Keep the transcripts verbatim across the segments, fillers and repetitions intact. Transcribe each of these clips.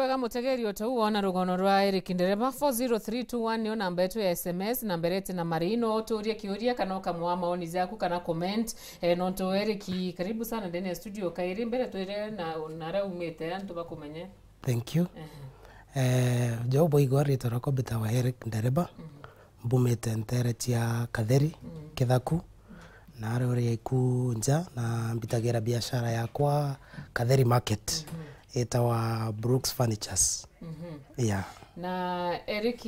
Wega mutegeri, o ta u wona rugono rwa Eric Ndereba, four zero three two one niyo namba yetu ya S M S, na mbere eti na mari, no uturie kiuria kana ukamwaa maoni jaku kana comment. Eh, nontu Eric, karibu sana ndani ya studio kairi, mbere twire na, na aria umite, antu bakumenye. Thank you. Ehe. Eh, jo boigwa ritwa rwakwa mbitawa Eric Ndereba. Mhm. Mbumite ntere cia Katheri, mm, Kithaku, na aria uri iku nja, na mbitagira biashara yakwa Katheri Market, mhm, itawa Brooks Furnitures. Mhm. Yeah. Na Eric,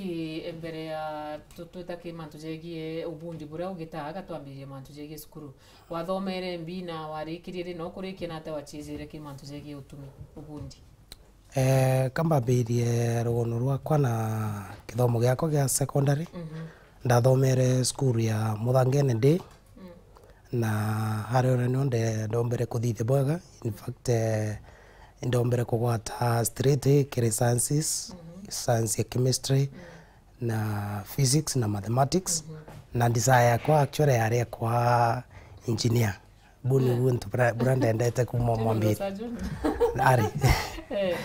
mbere ya tu-, twita ki mantu jegie ubundi buria ugitaga, twambirie mantu jegie cukuru. Wathomere mbi na warikirie ri, na ukurikia na atia wachiejire ki mantu jegie utumi, ubundi? Eh, ka mbambirie rugono rwakwa na kithomo giakwa gia secondary, mhm, ndathomere cukuru ya Muthangene Day, mm, na aria uria nio nde-, ndombere kuthithia bwega. In fact, eh, ndombere kugwata straight A kiri sciences, mhm, science ya chemistry, mm, na physics na mathematics, mhm, na desire yakwa actually yari ya kwa engineer. Bu ni, mm, buntu bura, bura ndendete kuma General mwambiri. Surgeon. Ari. Eh.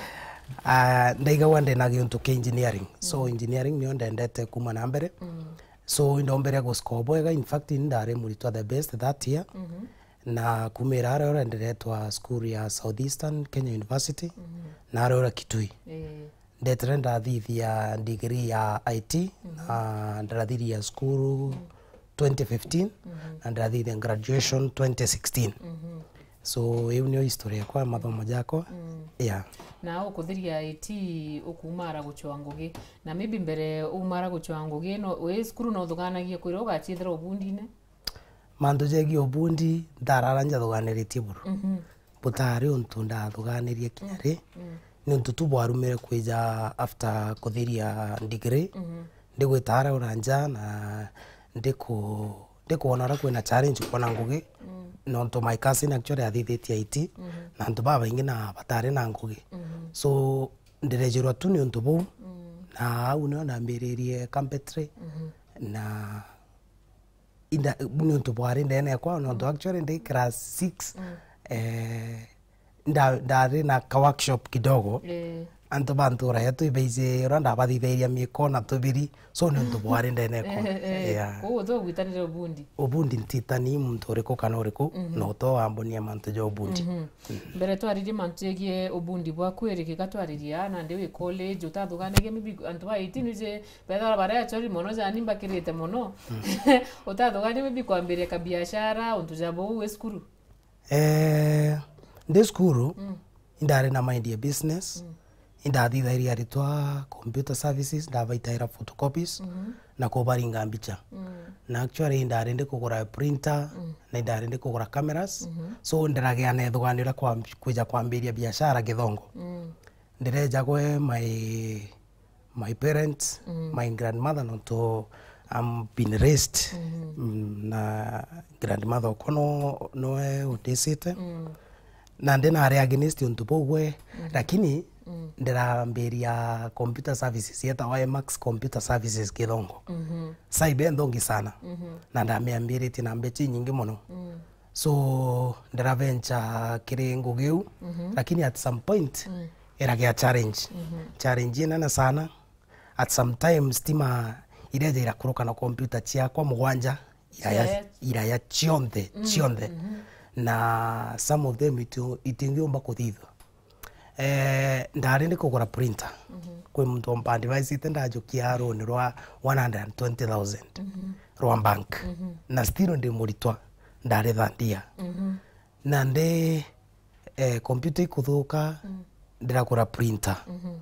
Ah, ndaigagua ndina giuntu kia engineering. So, mm, engineering niyo ndendete kuma na mbere. Mm. So, indombere guscore bwega. In fact, ni ndari muritwa the best that year. Mhm. Na kumira aria uria ndiretwa school ya Southeastern Kenya University, mhm, na aria uria Kitui. Eh. Ndetire ndathithia degree ya I T, mhm, na ndarathiria cukuru, mhm, twenty fifteen, mhm, na ndathithia graduation twenty sixteen. Mhm. So, iu niyo history yakwa ya mathomo jakwa. Mm. Yeah. Na ukuthiria I T ukuumara guchwa ngugi. Na maybe mbere uumara guchwa ngugi, no, wi cukuru no uthuganagia kwira ugachithira ubundine? Mantu jegie ubundi, ntarara njathuganiritie buru. Mhm. Butari untu ndathuganirie kinya ri. Mm. Ni untu tu bwarumire kwija after kuthiria degree. Mhm. Ndigwita ara ura nja na ndiku-, ndikwona uria kwina challenge kwona ngugi. Mm. Nontu my cousin actually athithitie I T, mhm, na antu babaingi na batari na ngugi. Mhm. So, ndirejirwa tu ni untu buu. Mm. Na au nio ndambiririe carpentry. Mhm. Na inda, niuntu bwari ndene yakwa, nontu, mm, actually ndi class six, mm, eh, nda-, ndari na ka workshop kidogo. Eh. Antu ba ntura yetu ibeiji uria ndabathithairia miko na tubiri, so niuntu bwari ndene yakwa. Eh, eh. Yeah. Kou utho gwitanire ubundi? Ubundi ntitani muntu uriku kana uriku, mhm, no to wambonia mantu ja ubundi. Mhm. Mbere twaririe mantu jegie ubundi bwaku, Eric, ka twaririe aa nandi wi college, utathuganagia maybe antu ba eighteen uje, bethagirwa bari achori mono, jani mbakirite mono. Mm. Utathugania maybe kwambiria kabiashara, untu ja buu wi cukuru? Eh, ndi cukuru, mm, indari na mind ya business, mm, indathithairia aritwa computer services, ndabaitaira photocopies, mhm, na kubaringa mbicha. Mm. Na actually indari ndi kugura printer, mm, na indari ndi kugura cameras. Mhm. So ndiragia na ithuganio ria kwam-, kwija kwambiria biashara Githongo. Mm. Ndireja gwe my, my parents, mm, my grandmother, nontu I'm been raised, mhm, mm, na grandmother okwa no, noe undicite. Mm. Na ndi nari against untu buu gwe, mhm, lakini, mm, ndirambiria computer services yetawa Emax Computer Services Githongo. Mhm. Saibe nthongi sana. Mhm. Na ndamiambiritie na mbecha inyingi mono. Mm. So, ndiraventure kiri ngugi iu, mhm, lakini at some point, mm, iragia challenge. Mhm. Challenge inene sana. At some time, stima ireja irakuruka na computer ciakwa mugwanja, iraya, iraya, iraya cionthe, mm, cionthe. Mhm. Na some of them itu-, itingiumba kuthithwa. Eh, ndari ndi kugura printer. Mhm. Kwi muntu ompa advice ite ndajukia runi rwa one hundred and twenty thousand, mhm, rwa bank. Mhm. Na still ndi muritwa, ndari third year. Mhm. Na ndi, eh, computer ikuthuka, mm, ndiragura printer. Mhm.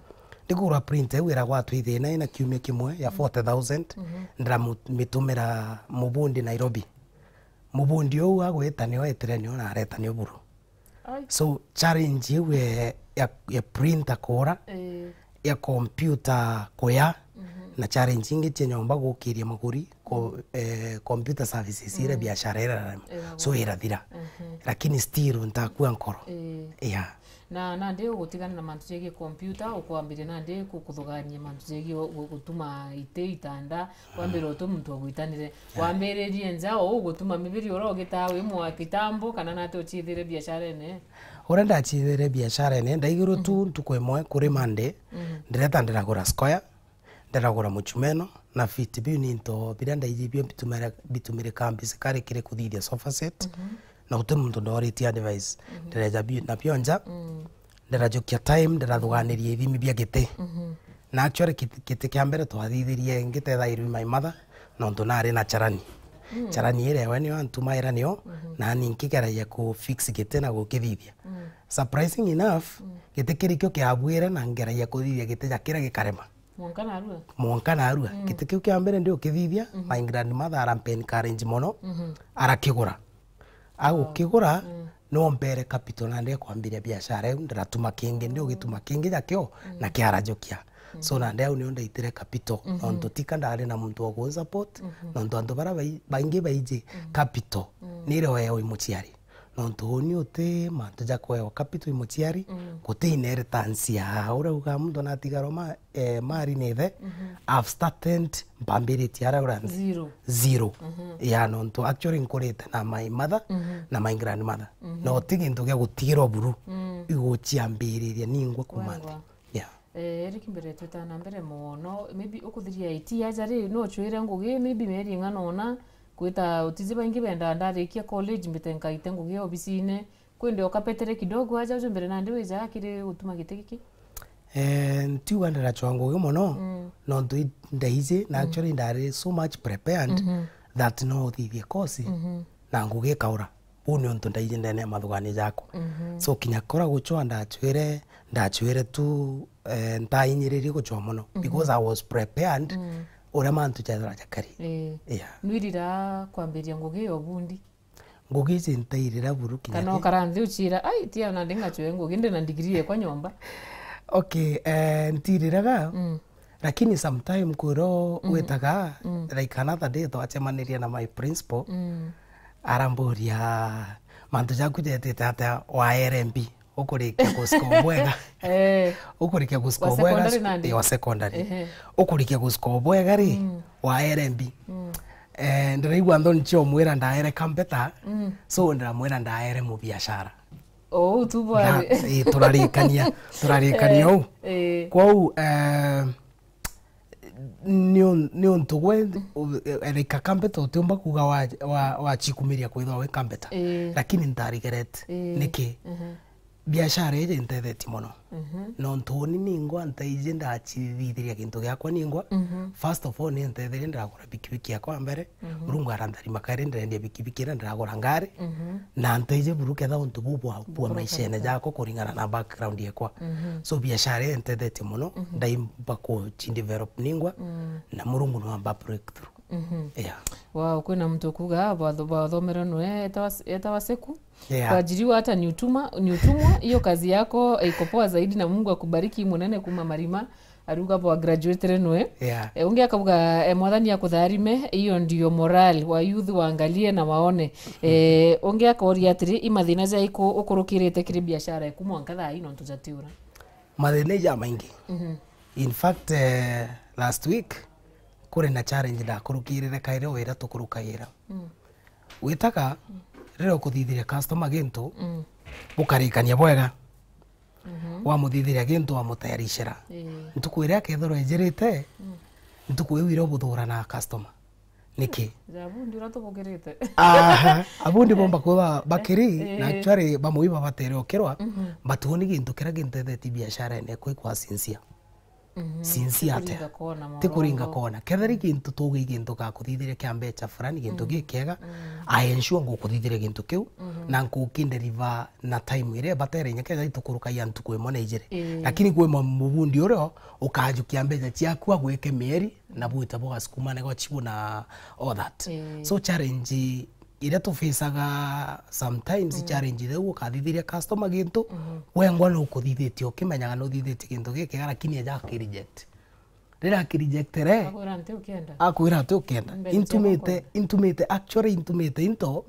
Ndikugura printer, iu iragwatwa ithina ina kiumia kimwe ya, mm, forty thousand, mhm, ndiramu-, mitumira mubundi Nairobi. Mubundi uu agwita nio etire nio na areta nio buru. Ai. So, challenge iu ya, ya, ya printer kuura, eh, ya computer kuya, mhm, na challenge ingi cia nyomba gukiria maguri, ko-, mm, eh, computer services ira, mm, biashara irarema. Iragwa. So, irathira. Mhm. Lakini still ntakua nkoro. Eh. Yeah. Na nandi ugutigana na mantu jegie computer, ukwambiria nandi ku-, kuthugania mantu jegie gu-, gutuma iti, itanda, wambire utu muntu ogwitanire. Yeah. Wambiririe nja, o ugutuma mibiri ura ugitaa wi mwa kitambo, kana nati uchiithire biasharene? Uria ndachithire biasharene, ndaigirwe tu ntuku imwe kuri Monday, ndireta ndiragura square, ndiragura muchumeno, na fiti biu ni into biria ndaiji bio bitumire-, bitumirikaa basically kiri kuthithia sofa set, na guti muntu ndoritie advice. Ndireja biu na bio nja, ndirajukia time, ndirathuganiria ithimi bia giti. Na actually, giti, giti kia mbere twathithirie ngitethairwe my mother, nontu nari na charani. Charani iria we nio antumaira nio, nani nkigeragia ku fix giti na gukithithia. Surprising enough, giti kirikio kiabuire na ngeragia kuthithia giti ja kiria gikarema. Mwanka narua. Mwanka narua. Giti kiu kia mbere ndi ukithithia, my grandmother arampe encourage mono, arakigura. Agukigura, no mpere capital nandi ya kwambiria biashara iu, ndiratuma kingi, ndi ugituma kingi jakio, na kiarajukia. So nandi au nio ndaitire capital, nontu tika ndari na muntu wa kunsupport, nontu antu bara bai-, baingi baiji capital, nirio weo i muciari. Nontu uni uti mantu ja kwewa capital i muciari, guti inheritance ya uria uga muntu natigarwa ma-, eh, mari ni ithe, I've started mpambiritie aria uria nthi. Zero. Zero. Ya, nontu actually nkurite na my mother na my grandmother. No ti gintu gia gutigirwa buru. Iguciambiriria ningwa kuma nthi. Wengwa. Yeah. Eh, Eric, mbere twitana mbere mono, maybe ukuthiria iti aja ri, no uchwire ngugi, maybe mieri ing'ana ona, kwita utiji baingi bendaa ndarikia college mbite nkaite ngugi obisine, kwende ukapetere kidogo aja uju mbere nandi wija kiri gutuma giti giki? Eh, ntiuga ndirachwa ngugi mono, nontu i-, ndaiji, na actually ndari so much prepared that no uthithie course, na ngugi ikaura. Uu ni untu ndaiji ndene ya mathugania jakwa. So kinya kura guchwa ndachwire, ndachwire tu, eh, ntainyiririe guchwa mono, because I was prepared uria mantu jathira jakari. Eh. Yeah. Nwirira kwambiria ngugi ya ubundi? Ngugi iji ntairira buru kinya kana ki- ukara nthi uchira, "Ai, tia na ndingachwe ngugi, ndi na degree yekwa nyomba." Okay, eh, ntiriraga, lakini sometime kwiro witaga, like another day twachemanirie na my principal, aramburia, "Mantu jaku jetite atia wa R M B? Ukurikia guscore bwega?" Eh. Ukurikia guscore bwega? Wa secondary nandi? Eh, wa secondary. Ehe. Ukurikia guscore bwega ri, wa R M B? Eh, ndiraigua nthoni cia umwira ndaere kampeta, so ndiramwira ndaere mubiashara. Ou tu bwari. Na, eh, turarikania, turarikania ou. Eh. Kwou, eh, ni un-, ni untu gwe, u-, erika kampeta utiumba kuga wa, wa, wachikumiria kwithwa wi kampeta. Eh. Lakini ntarigerete. Eh. Niki? Biashara iji ntethetie mono. Nontu uni ningwa ntaiji ndachithithiria gintu giakwa ningwa. First of all, ni ntetherie ndiragura bikibiki yakwa mbere. Murungu arantharima kairi ndirendia bikibiki iria ndiragura ngari. Na ntaiji buru ketha untu buu bwa, bwa maishene jakwa kuringana na background yakwa. So biashara ii ntethetie mono, ndaimba kuchidevelop ningwa, na Murungu nwamba breakthrough. Yeah. Wow, kwina muntu kuga, bwatho-, bwathomere nwe, etawa, etawa Seku? Yeah. Kuajiriwa hata ni utuma-, ni utumwa, hiyo kazi yako iko poa zaidi na Mungu akubariki munene kuma Marima, aruga bwa graduate nwe. Yeah. E, ungi akauga, e, Mwathani akutharime, hiyo ndio moral wa youth waangalie na waone. E, ungi akoria atiri, i mathina jaiku ukurukirite kiri biashara eku mwanka thaa ii nontu jatiura? Mathina ija maingi. In fact, eh, last week, kuri na challenge ndakurukirire kairi wira tukurukagira. Witaga, riria ukuthithiria customer gintu, bukarikania bwega. Wamuthithiria gintu, wamutayarishira. Ii. Ntuku iria akethirwa ejirite, ntuku iu iria ubuthura na customer. Niki? Ja abundi uria tubukirite. Aha, abundi bomba kwithwa bakiri, na actually bamwe ibabatere ukirwa, but uni gintu kiria gintethetie biasharene ekwa ikwa sincere. Sincere atia? Tikuringa kona. Kethira i gintu tugi gintu gakuthithiria kia mbecha fulani, gintu gikiega, I ensure ngukuthithiria gintu kiu, na nkukideliver na time iria ibatere inya kethira itukurukagia ntuku imwe na ijiri. Ii. Lakini kwi ma-, mubundi uria ukajukia mbecha ciaku agwike mieri, na bwita bugasukumane gwa chibu na all that. Ii. So challenge iria tufacaga sometimes, challenge iria ukathithiria customer gintu, wengwa nukuthithitie ukimenyaga nuthithitie gintu gikiega, lakini eja akireject. Riria akirejectere, akwira nti ukienda. Akwira ati ukienda. Mbecha ciakwa. Intumite, intumite, actually intumite into,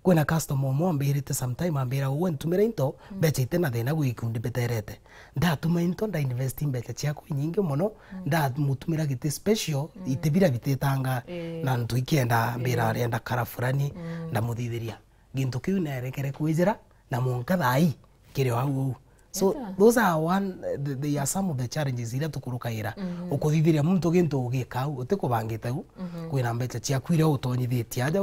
kwina customer umwe ambirite sometime, ambira, "Uwe ntumira into, mbecha ite na thina gwi gikundi mbiterete." Ndatuma into, ndainvest mbecha ciakwa inyingi mono, ndamutumira giti special, iti bira bititanga, na ntu ikienda, ambira arienda kara fulani, ndamuthithiria. Gintu kiu nerekere kwijira, na mwanka thaa ii, kiri o au au. So, those are one, th- they are some of the challenges iria tukurukagira. Ukuthithiria muntu gintu ugika au, utikubangite u, kwina mbeca ciaku iria utonyithitie aja,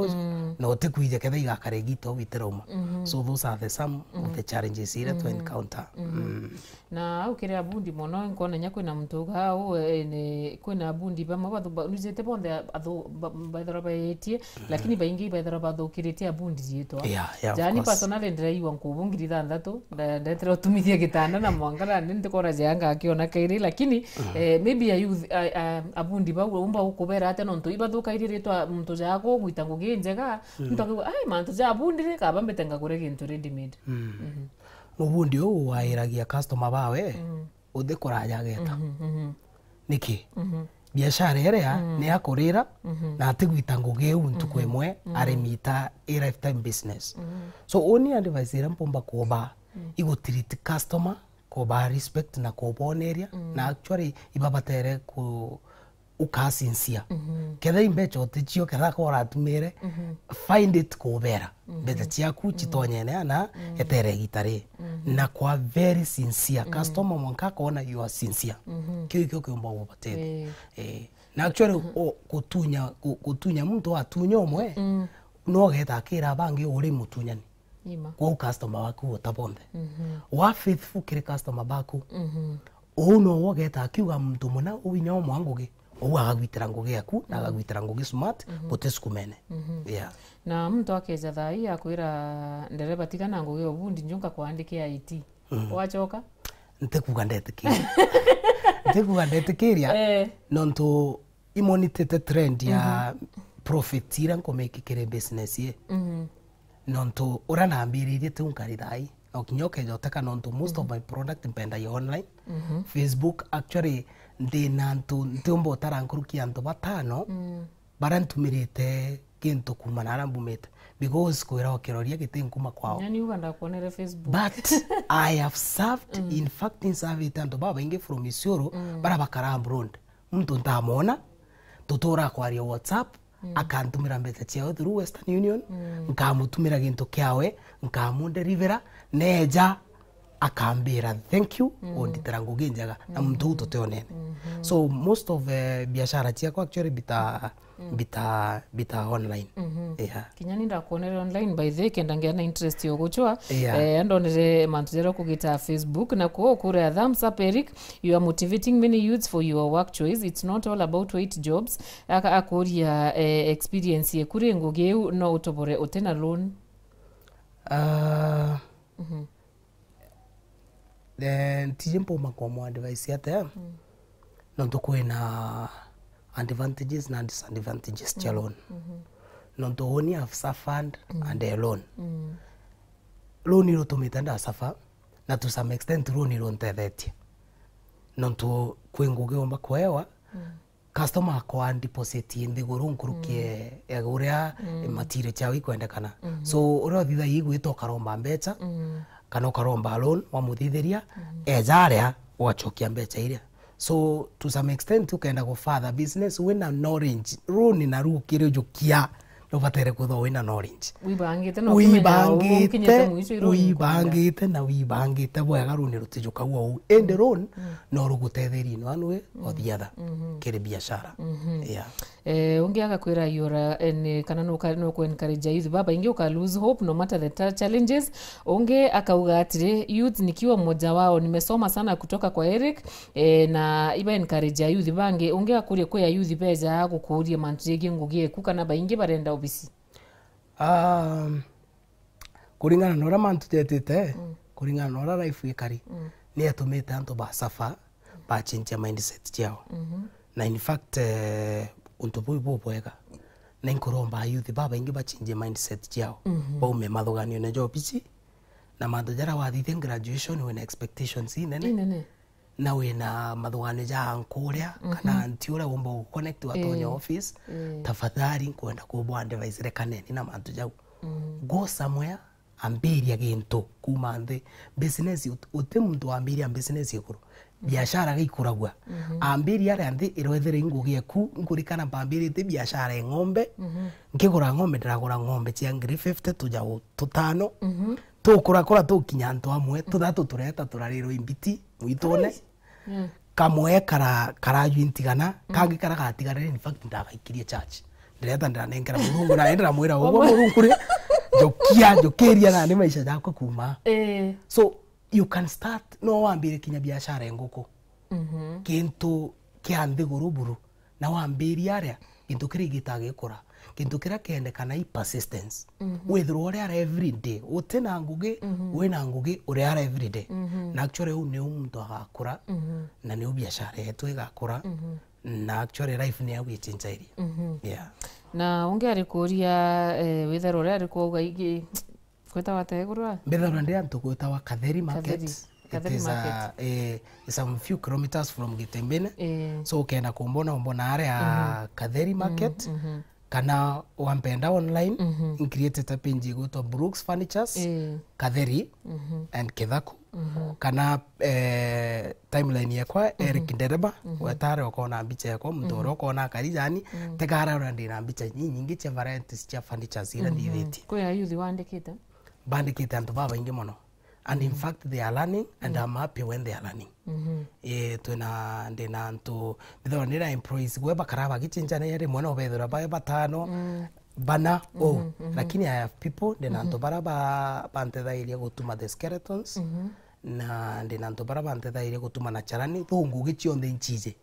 na utikwija ketha igakara igita u itirauma. So those are the some of the challenges iria tu encounter. Mm. Na au kiri abundi mono, nkona nya kwina muntu uga au, eh, ni, kwina abundi bamwe bathu- ba- nujite bonthe athu- ba- baithirwa baetie, lakini baingi baithirwa bathukiritie abundi riitwa. Yeah, yeah, of Jani course. Personally ndiraigua nkubu ngiri ithanthatu, nda- ndetera utumithia gitanda na mwanka na ndi ndikona jaa ngakiona kairi, lakini, eh, maybe a youth, a- a- abundi bau umba ukubera atia nontu ibathukairie riitwa muntu jaa kugwita ngugi njega, muntu akiuga, "Ai, mantu ja abundi ri, kaba mbite ngagure gintu ready made." Mhm. Mubundi uu wairagia customer bawe, uthi kuraja ageta. Niki? Biashara iria ni ya kurira, na atigwita ngugi iu ntuku imwe, arimita i lifetime business. So, uni advice iria mpumba kuba, igu treat customer, kuba respect na kuboneria, na actually ibabatere ku, uka sincere. Ketha i mbeca uticio, ketha ko uratumire, find it kubera. Mbeca ciaku citonyene ana etere igita ri. Na kwa very sincere. Customer mwanka akona you are sincere. Kiu ikio kiumba gubatethia. Eh. Eh. Na actually, o, gutunya, gu- gutunya muntu atunya umwe, no ugeta akira bangi uri mutunyani. Ima. Kwou customer waku uta bonthe. Wa faithful kiri customer baku. Uu no wogeta akiuga muntu muna uu inya umwa ngugi. Uu agagwitira ngugi yaku, na agagwitira ngugi smart, gutisukumene. Yeah. Na muntu akeja thaa ii akwira, "Ndereba, tiga na ngugi ya ubundi, nju nkakwandikia I T." Wachoka? Ntikuga ndetikiria. Ntikuga ndetikiria, eh, nontu imonitite trend ya profit iria nkumake kiri business ii. Nontu uria nambiririe tiu nkari thaa ii. No kinya ukeja uteka nontu most of my product mpendagia online. Facebook, actually, ndi na antu ntiumba utara nkuruki antu batano baria ntumirite gintu kuuma naria mbumite. Because kwira ukiroria giti nkuma kwao. Nyani uga ndakuonere Facebook. But I have served, in fact, nsavite antu babaingi from Isiolo, baria bakara abroad. Muntu ntamwona, tutura kwaria WhatsApp, akantumira mbeca ciawe through Western Union, nkamutumira gintu kiawe, nkamudelivera, neja akambira thank you, unditira ngugi njega, na muntu uu tutionene. So most of, eh, biashara ciakwa actually bita, bita, bita online. Yeah. Kinya ni ndakuonere online, by the way, kenda ngia na interest yo guchwa. Yeah. Eh, ndonere mantu jaria ukugita Facebook, na kuo kuria thumbs up, Eric, you are motivating many youths for your work choice. It's not all about white jobs. Aka-, akuria, eh, experience yeku ri ngugi iu no utobore utina loan? Ah, eh, ntiji mpuma kwa mu advice atia. Nontu kwina advantages na disadvantages cia loan. Nontu uni have suffered and a loan. Loan irutumite nda suffer, na to some extent loan iruntethetie. Nontu kwi ngugi umba kuewa, customer akwa deposit nthiguru nkuruki ya uria material ciao ikwendekana. So, uria uthithagia igwita ukaromba mbeca, kana ukaromba loan, wamuthithiria, eja aria, ugacokia mbeca iria. So, to some extent, ukenda ku further business, wina knowledge, loan na rukirijukia, nubatere kwithwa wina knowledge. Wibangite na ukimenya ukinyite mwicho i loan ukwenda. Wibangite na wibangite bwega, loan rutijuka uu. Indi loan no rugutetherie in one way or the other kiri biashara. Yeah. Eh, ungi agakwira yura, eh, ni kana nuka-, nuku encourage youth babaingi uka lose hope no matter the ta-, challenges. Ungi akauga atiri, "Youth nikiwa mmoja wao, nimesoma sana kutoka kwa Eric." Eh, na iba encourage youth bangi. Ungi akuria kwi a youth beja gukuria mantu jegii ngugi eku kana baingi barenda obisi? Um, kuringana na uria mantu jetite, kuringana na uria life ikari, ni yatumite antu ba suffer, ba change mindset ciao. Na in fact, eh, untu buu bubwega. Na inkuromba youth babaingi ba change mindset ciao. Baume mathuganione ja obici, na mantu jaria wathithia graduation wina expectations inene. Inene. Na wina mathuganio ja ankuria, kana anti uria umba guconnect watonya office, tafadhali nkwenda kubwa advice, rekaneni na mantu jau. Go somewhere, ambiria gintu kuma nthi. Business, ut-, uti muntu wambiria business iguru. Biashara giikuragua. Ambiria aria nthi irwethire ingugi eku, nkurikana mpambirite biashara ya ng'ombe. Nkigura ng'ombe, ndiragura ng'ombe cia ngiri fifty, tujau tutano. Tukurakura tukinya antu amwe, tuthatu tureta turarirwa imbiti mwitune. Mm. Kamwe kara-, karajwi ntigana, kangi kara gatigarire, in fact, ndagaikirie church. Ndireta ndiranenkera Murungu, na ndiramwira, "Uguo Murungu ri, njukia, njukiria nani maisha jakwa kuma." Eh. So, you can start, no wambire kinya biashara ya nguku. Mhm. Kintu kia nthiguru buru, na wambiria aria, gintu kiria gitagikura. Gintu kiria kiendekana i persistence. Mhm. Withirwa uri ara every day, uti na ngugi, mhm, wi na ngugi, uri ara every day. Mhm. Na actually, uu niu muntu agakura, mhm, na niu biashara yetu igakura, mhm, na actually life ni au ichinchairie. Mhm. Yeah. Na ungi ari kuria, eh, withirwa uri ari kuuga ingi, Gwitawa atia iguru aa? Mbithairwa ndi antu gwitawa Katheri Market. Katheri. It Katheri is a, Market. Eh, it's some few kilometers from Gitembene. Eh. So, ukenda kumbona, umbona aria, mhm, Katheri Market. Mhm, mhm. Kana wampenda online, mhm, ncreatete page igwitwa Brooks Furnitures, eh, Katheri, mhm, and Kithaku. Mhm. Kana, eh, timeline yakwa, mhm, Eric Ndereba, mhm, wetare ukona mbicha yakwa, muntu, mhm, uria ukona akari jani, mhm, tegara uria ndina mbicha nyingi cia varieties cia furnitures iria, mhm, ndithitie. Kwi ayuthi wandikite? Bandikite antu babaingi mono. And in, mhm, fact, they are learning, and, mhm, I'm happy when they are learning. Mhm. Eh, twina, ndina antu, mbithirwa ndina employees gwe bakara bagichinchania rimwe no bethirwa bae batano, mm, bana, oh. Mhm, mhm. Lakini I have people, ndina, mhm, antu bara ba-, bantethairia gutuma the skeletons, mhm, na ndina antu bara bantethairia gutuma na charani, though ngugi cionthe inchiji.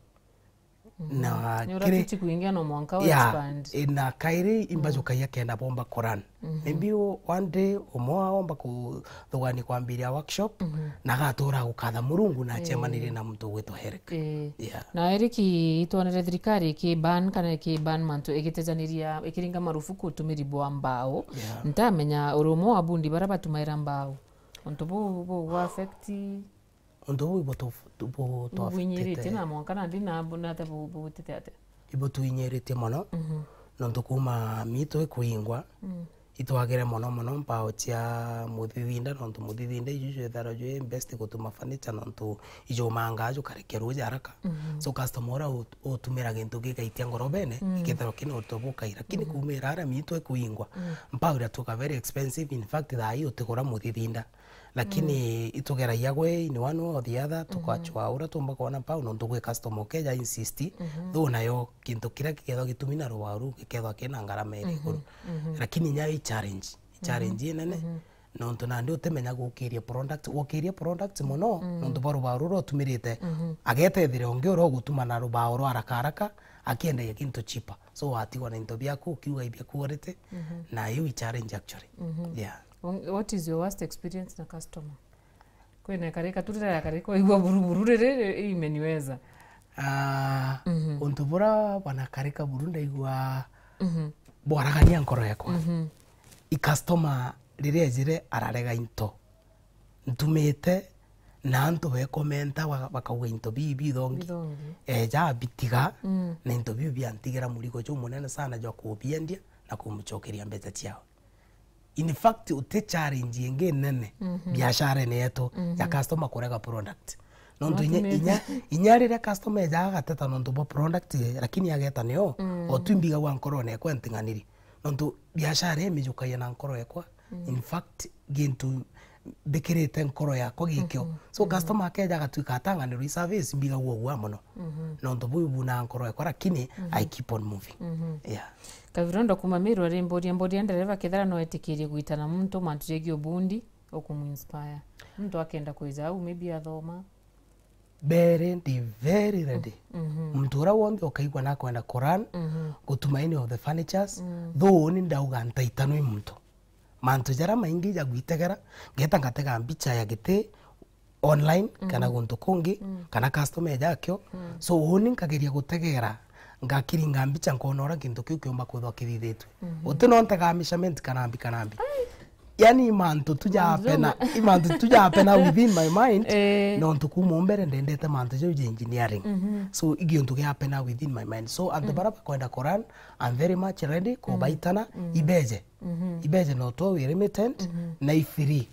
Mhm. Na ni uria kiri-, tuti kuingia no mwanka wa, yeah, expand. Eh, na kairi imbajukagia, mhm, kenda bomba Quran. Mhm. Maybe o-, one day umwe aomba kuthugania kwambiria workshop, mhm, na agatura gukatha Murungu na, eh, acemanirie na muntu ugwitwa Herc. Eh. Yeah. Na Eric, itwonere thirikari iki ban kana iki ban mantu igitejaniria, ikiringa marufuku utumiri bwa mbao. Yeah. Ntamenya uri umwe wa bundi bara batumaira mbao. Untu buu bu affect Untu buu ibutu-, bu-, butu-, bwinyiritie affectite. Na mwanka nandi na bu-, nate bu-, bugutite atia? Ibutuinyiritie mono, mhm, nontu kuuma miitu ikuingwa, mm, itwagire mono mono mbao cia muthithinda, nontu muthithinda iju jwithagirwa jwi best gutuma furniture, nontu ijumangaa jukarekia ruuji haraka. Mhm. So customer uria ut-, utumira gintu gigaitia ngorobene, mm, igethirwa kina untu bukai. Lakini, mhm, kuumira aria miitu ikuingwa, mm, mbao iratuika very expensive. In fact, thaa ii utigura muthithinda. Lakini, mm, itugeragia gwe in one way or the other, mhm, tukachwa uria tumba kwona mbao, nontu gwi customer ukeja insist, mhm, though nayo gintu kiria gikethwa gitumi na rubao ruu gikethwa kina ngarama iri, mhm, iguru. Mhm. Lakini inya i challenge, i, mhm, challenge inene, mhm, nontu nandi utimenya gukiria product, gukiria product mono, mm, nontu bwa rubao ruria utumirite, mhm, agetethire ungi uria ugutuma na rubao rwa haraka haraka, akiendagia gintu cheaper. So, watigwa na into biaku, ukiuga ibia quality, mhm, na iu i challenge actually. Mhm. Yeah. Ong-, what is your worst experience na customer? Kwina ikarika tu riria yakarika waigua buruburu riri, ri-, imeniweza. Ah, mhm, untu bura bwanakarika buru ndaigua, mhm, bwaragania nkoro yakwa. Mhm. I customer riria ejire ararega into. Ntumite na antu bekomenta ba-, bakauga into biu bithongi. Bithongi. Eja abitiga, mm, na into biu biantigira murigo jumunene sana jwa kubiendia na kumucokeria mbeca ciao. In fact, uti challenge ingi nene, mhm, biasharene yetu ya, mhm, customer kurega product. Nontu inya, inya, inya riria customer ejaga agateta nontu bwa product ye, lakini ageta nio, mm, o tu imbigagua nkorone ekwa nting'aniri. Nontu biashara ii imijukagia na nkoro ekwa. Mm. In fact, gintu mbikirite nkoro yakwa gikio. Mhm. So, mhm, customer akeja agatuika atang'anirwa i service, mbigagua uguaa mono. Mhm. Nontu buu bunaga nkoro yakwa, lakini, mhm, I keep on moving. Mhm. Yeah. Kabirondo kuma Meru ari mboria, mboria ndereba kethira no etikirie gwitana muntu mantu jegii ubundi, ukumuinspire. Muntu akenda kwija au, maybe athoma. Very ready, very ready. Mhm. Muntu uria wonthe ukaigua nakwenda kurun, mhm, gutuma any of the furnitures, mm, though ni ndauga ntaitanwi muntu. Mantu jaria maingi jagwitegera, ngeta ngatega mbicha ya giti online, mhm, kana guntu kungi, mm, kana customer ejakio. Mm. So, uni nkageria gutegera, ngakiringa mbicha, nkona uria gintu kiu kiumba kwithwa kithithitwe. Mhm. Uti no ntega measurement kanambi kanambi. Ai. Yani, i mantu tu ja happen, i mantu tu ja happen within my mind, eh, nontu kuma o mbere ndendete mantu jau ja engineering. Mhm. So, i giuntu gia happen within my mind. So, antu, mhm, baria bakwenda kurun, I'm very much ready, mhm, kubaitana, mhm, ibeje. Mhm. Ibeje no two way limited, mhm, na i free.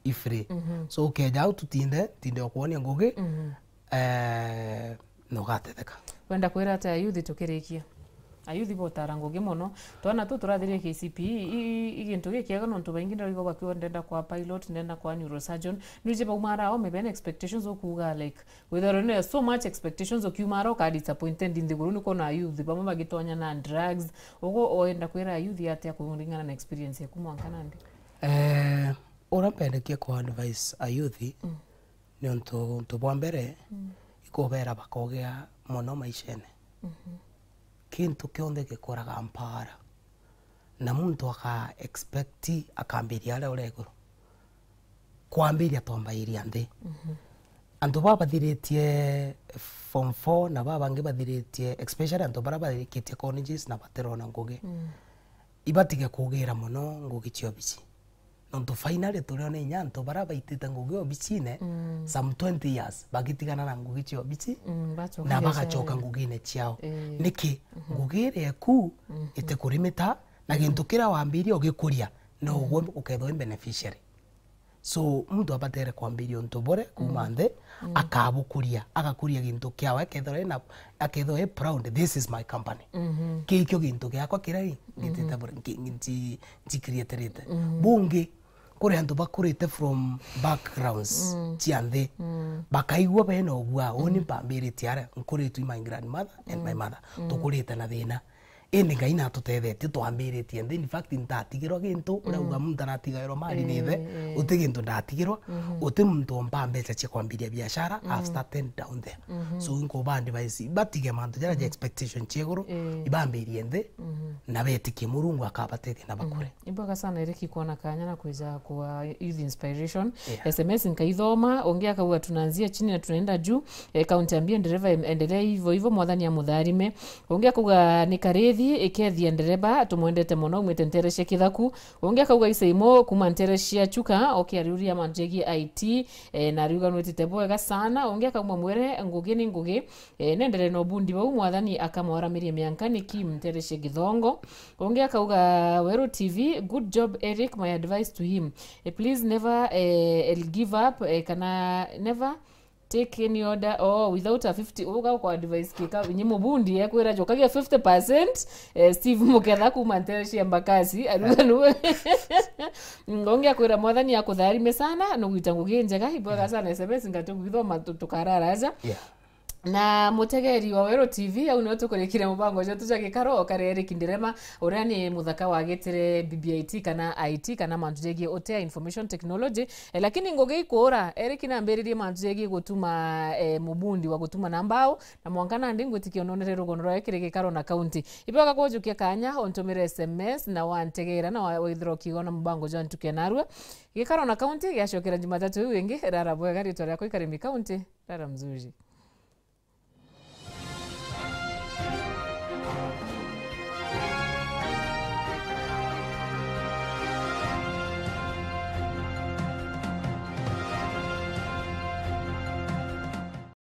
I free. Mhm. So, ukeja au tutinde, tinde okwonia ngugi, mhm, eh, na ugatetheka. Wenda kwira atia youth tukirikia? Ayuthi botara ngugi mono. Twana tu turathirie K C P E, i, i, i gintu gikiega nontu baingi ndirigwa bakiuga ndenda kwa pilot, ndenda kwa neurosurgeon. Nuje baumara o mebene expectations ukuga like, withero ne so much expectations ukiumara uka disappointed nthiguru ni kona ayuthi bamwe bagitonya na drugs. Ugo oenda kwira ayuthi atia kuringana na experience yaku mwanka nandi? Eh, ura mpendekie kwa advice ayuthi, mm, ni untu, untu bwa mbere, mm, ikubera bakogia mono maishene. Mhm. Kintu kionthe gikuraga mpara. Na muntu aka expect akambiria aria uri iguru. Kwambiria twambairia nthi. Mhm. Antu baba bathiritie form four na baba bangi bathiritie, especially antu bara barikitie colleges na batirona ngugi. Mm. Ibatige kugira mono ngugi cia obici. Nontu finally turiona inya antu bara baitite ngugi obicine, mm, some twenty years, bagitigana na ngugi cia obici, mm, bacoka na biacara bagacoka ngugine ciao. Eh. Niki? Mhm. Ngugi iria eku, mhm, itikurimita, na gintu kiria wambirie ugikuria, no, mm, ugwe ukethwa wi beneficiary. So, muntu abatere kwambiria untu bure kuuma, mm, nthi, mm, akabukuria, agakuria gintu kiawe, akethirwa ena, akethirwa e proud, "This is my company." Mhm. Kii kio gintu giakwa kiria i, ngitite, mhm, bure, nki-, nki-, nji-, njikiriatirite. Mhm. Bungi, kuri antu bakurite from backgrounds, mm, cia nthi, mm, bakaigua bena ugua, uni, mm, mpambiritie aria, nkuritwe my grandmother and my, mm, mother. Mm. Tukurite na thina. Indi Ngai natutethetie, twambiritie nthi. In fact, ntatigirwa gintu, mm, urauga muntu aratigairwa mali ni ithe, eh, eh, uti gintu ndatigirwa, mhm, uti muntu ompa mbeca cia kwambiria biashara, I've, mm, started down there. Mhm. So, nkuba advice, batige mantu jaria ja, mhm, expectation cia iguru, eh, ibambirie nthi, mhm, na betikie Murungu akabatethia na bakure. Mhm. Ibwega sana, Eric, kwona kanya na kwija kwa Youth Inspiration. Yeah. S M S nkaithoma, ungi akauga, "Tunaanzia chini na tunaenda juu." Eh, kaunti ambie ndereva, em-, endelea hivyo hivyo, Mwathani amutharime. Ungi akauga, "Ni karithi, ikethia ndereba, tumwendete mono, umwite ntere cia Kithaku." Ungi akauga, "Isaimo, kuma ntere cia Chuka, oke ariuria mantu jegie I T, eh, na ariuga nwitite bwega sana." Ungi akauma mwere, ngugi ni ngugi, eh, nendere na ubundi bau, Mwathani akamwaramirie mianka, ni Kim ntere cia Githongo. Ungi akauga, "Weru T V, good job, Eric, my advice to him, eh, please never, eh, give up, eh, kana never take any order, oh, without a fifty." Uga kwa advice kika, nyi mubundi ekwira, "Jokagia fifty percent, eh, Steve Muketha kuma ntere cia Mbakasi." Ariuga nuwe. Ungi akwira, "Mwathani akutharime sana, nugwita ngugi njega." Ibwega sana S M S, ngatu gwithoma tu-, tukararaja. Yeah. Na mutegeri wa Weru T V, au nio tukurikire mubango jwetu ja gikaro, okare Eric Ndirema, uria ni muthaka wa Gitire B B I T kana I T kana mantu jegie utea, information technology. Eh, lakini ngugi ikuura, Eric nambiririe mantu jegie gutuma, eh, mubundi wa gutuma na mbao, na mwanka nandi ngwitikia unonere rugono rwawe kiri gikaro na kaunti. Ibwega kujukia kanya, untumire S M S na wantegera na wa-, withira ukiona mubango jwa ntuke narua. Gikaro na kaunti giacokera Jumatatu iu ingi, rara bwega, ritwa riakwa i Karimi Kaunti, rara mzuri.